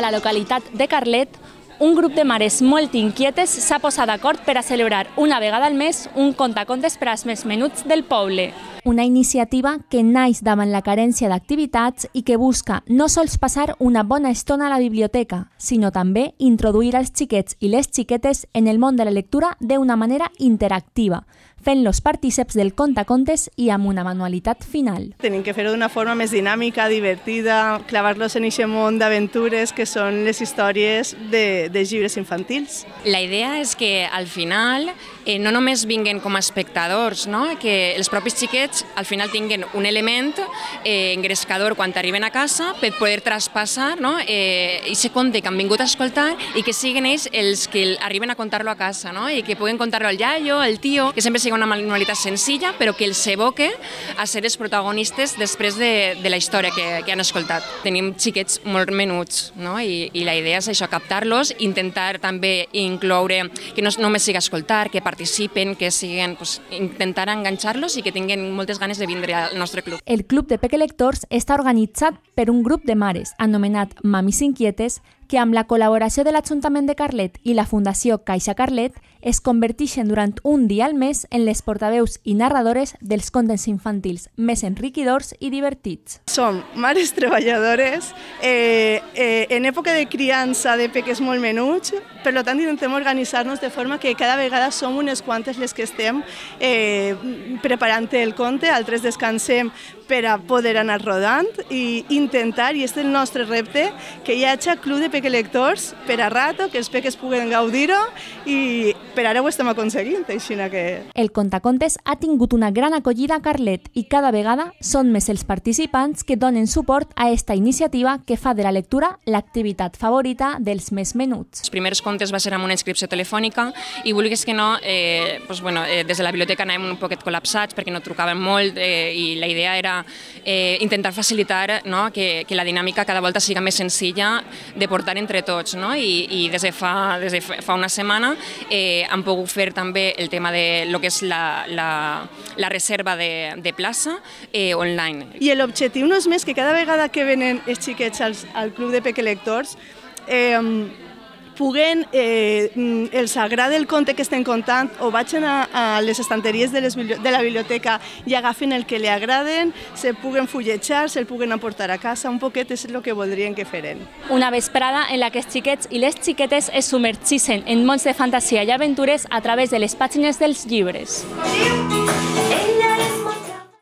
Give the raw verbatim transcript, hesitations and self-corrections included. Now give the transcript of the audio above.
la localitat de Carlet, un grup de mares molt inquietes s'ha posat d'acord per a celebrar una vegada al mes un contacontes per als més menuts del poble. Una iniciativa que naix davant la carència d'activitats i que busca no sols passar una bona estona a la biblioteca, sinó també introduir els xiquets i les xiquetes en el món de la lectura d'una manera interactiva, fent-los partíceps del contacontes i amb una manualitat final. Tenim que fer-ho d'una forma més dinàmica, divertida, clavar-los en aquest món d'aventures que són les històries de, de llibres infantils. La idea és que al final eh, no només vinguen com a espectadors, no? Que els propis xiquets al final tinguen un element eh, engrescador quan arriben a casa per poder traspassar, no? eh, aquest conte que han vingut a escoltar i que siguin ells els que arriben a contar-lo a casa, no? I que puguen contar-lo al iaio, al tio, que sempre sigui una manualitat senzilla però que els evoque a ser els protagonistes després de, de la història que, que han escoltat. Tenim xiquets molt menuts, no? I, i la idea és això, captar-los, intentar també incloure que no només sigui escoltar, que participen, que siguen, pues, intentar enganxar-los i que tinguin moltes ganes de vindre al nostre club. El Club de Pequelectors està organitzat per un grup de mares anomenat Mamis Inquietes que amb la col·laboració de l'Ajuntament de Carlet i la Fundació Caixa Carlet es converteixen durant un dia al mes en les portaveus i narradores dels contes infantils més enriquidors i divertits. Som mares treballadores eh, eh, en època de criança de peques molt menuts, per tant intentem organitzar-nos de forma que cada vegada som unes quantes les que estem eh, preparant el conte, altres descansem per a poder anar rodant i intentar, i és el nostre repte, que hi hagi club de pequelectors per a rato, que els peques puguen gaudir-ho i per ara ho estem aconseguint, així que... El contacontes ha tingut una gran acollida a Carlet i cada vegada són més els participants que donen suport a esta iniciativa que fa de la lectura l'activitat favorita dels més menuts. Els primers contes va ser amb una inscripció telefònica i vulguis que no, eh, doncs, bueno, eh, des de la biblioteca anàvem un poquet col·lapsats perquè no trucaven molt eh, i la idea era eh, intentar facilitar, no, que, que la dinàmica cada volta siga més senzilla de portar entre tots, no? I, i des de fa, des de fa una setmana eh, han pogut fer també el tema de lo que és la, la, la reserva de, de plaça eh, online. I l'objectiu no és més que cada vegada que venen els xiquets als, al Club de Pequelectors eh, puguen, eh, els agrada el conte que estem contant o vagin a, a les estanteries de, les, de la biblioteca i agafen el que li agraden, se puguen fulletjar, se'l puguen aportar a casa, un poquet és el que voldrien que feren. Una vesprada en la que els xiquets i les xiquetes es submergeixen en mons de fantasia i aventures a través de les pàgines dels llibres.